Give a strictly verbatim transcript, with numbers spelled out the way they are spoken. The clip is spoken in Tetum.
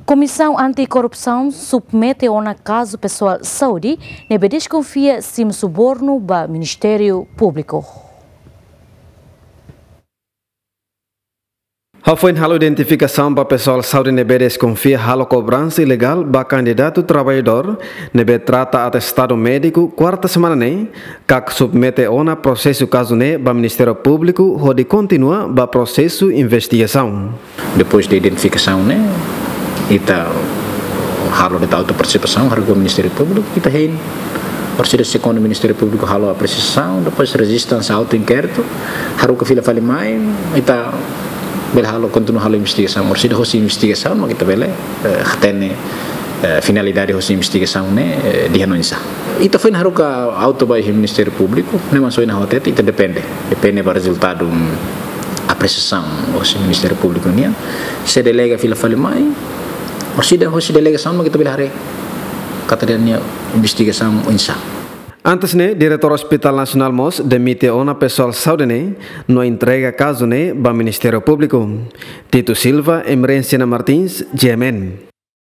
Komisaun Anti-Korrupsaun submete ona kazu pesoál saúde ne'ebé deskonfia simu subornu ba Ministériu Públiku. Hafoin halo identifikasaun ba pesoál saúde ne'ebé deskonfia halo kobransa ilegál ba kandidatu traballadór ne'ebé trata atestadu médiku kuarta semana ne'e, KAK submete ona prosesu kazu ne'e ba Ministériu Públiku hodi kontinua ba prosesu investigasaun. Depois de identifikasaun ne'e, ita halo de'it auto-partisipasaun, haruka Ministériu Públiku, ita hein. Orsida segundu Ministériu Públiku halo apresiasaun, depois rejista hanesan auto-inkéritu, haruka fila fali mai, ita bele halo, kontinua halo investigasaun. Orsida hosi investigasaun, mak ita bele, eh, hatene, eh, finalidade hosi investigasaun ne'e, eh, di'ak no oinsá. Ita foin haruka auto ba iha Ministériu Públiku, ne'e mak ohin ha'u hatete, ita depende. Depende ba rezultadu, mm, apresiasaun hosi Ministériu Públiku nian. Se delega fila fali mai, orsida hosi delegasaun mak ita bele haree katak nia investigasaun oinsá. Antes ne'e, Diretór Hospital Nasionál mós demite ona pesoál saúde ne'e no entrega kazu ne'e ba Ministériu Públiku. Tito Silva, Emerenciana Martins, G M N.